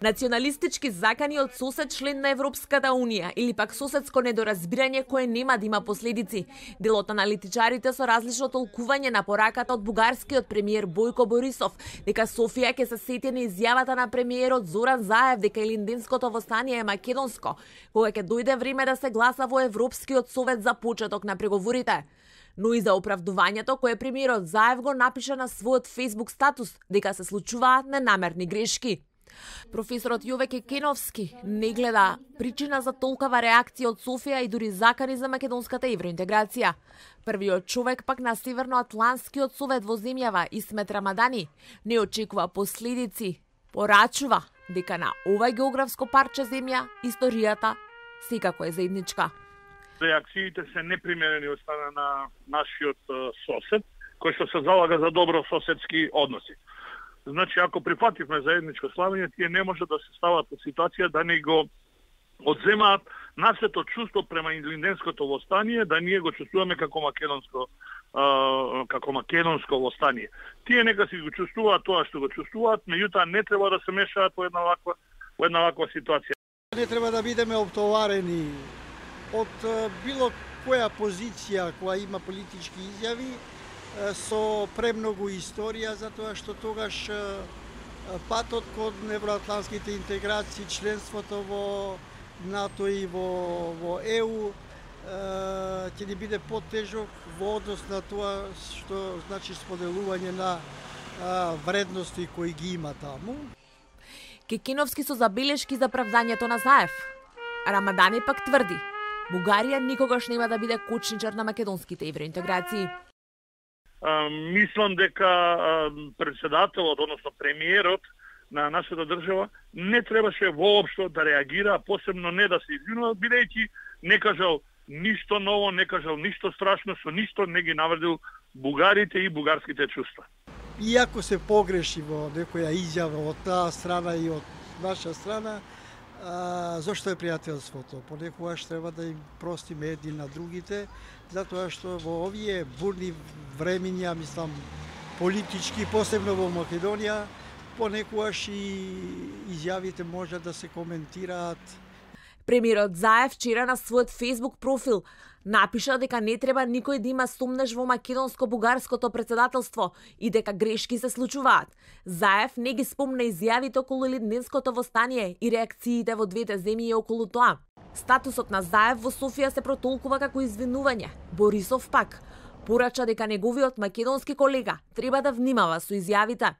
Националистички закани од сосед член на Европската Унија или пак соседско недоразбирање кое нема да има последици. Дел од аналитичарите со различно толкување на пораката од бугарскиот премиер Бојко Борисов, дека Софија ќе се сети на изјавата на премиерот Зоран Заев дека Илинденското востание е македонско, кога ќе дојде време да се гласа во Европскиот совет за почеток на преговорите. Но и за оправдувањето кое премиерот Заев го напиша на својот Facebook статус дека се случуваат ненамерни грешки. Професорот Јове Кекеновски не гледа причина за толкава реакција од Софија и дури закани за македонската евроинтеграција. Првиот човек пак на Северноатлантскиот совет во земјава Исмет Рамадани не очекува последици. Порачува дека на ова географско парче земја историјата секако е заедничка. Реакциите се непримерени од страна на нашиот сосед, кој што се залага за добро соседски односи. Значи, ако прифативме заедничко славење, тие не може да се стават во ситуација да не го одземаат нашето чувство према Илинденското востание, да ние го чувствуваме како македонско востание. Тие нека си го чувствуваат тоа што го чувствуваат, меѓутоа не треба да се мешаат во една ваква ситуација. Не треба да бидеме оптоварени од било која позиција која има политички изјави со премногу историја, затоа што тогаш патот кон евроатлантските интеграции, членството во НАТО и во ЕУ ќе ни биде потежок во однос на тоа што значи споделување на вредности кои ги има таму. Кекеновски со забелешки за правдањето на Заев. Рамадани пак тврди, Бугарија никогаш нема да биде кочничар на македонските евроинтеграции. Мислам дека председателот, односно премиерот на нашата држава не требаше воопшто да реагира, посебно не да се извинува, бидејќи не кажал ништо ново, не кажал ништо страшно, со ништо не ги навредил бугарите и бугарските чувства. Иако се погреши во некоја изјава од таа страна и од наша страна, зошто е пријателството? Понекогаш треба да им простиме едни на другите, затоа што во овие бурни времиња, мислам, политички, посебно во Македонија, понекогаш и изјавите може да се коментираат. Премиерот Заев вчера на својот Facebook профил напиша дека не треба никој да има сомнеш во македонско-бугарското председателство и дека грешки се случуваат. Заев не ги спомна изјавите околу Илинденското востание и реакциите во двете земји околу тоа. Статусот на Заев во Софија се протолкува како извинување. Борисов пак порача дека неговиот македонски колега треба да внимава со изјавите.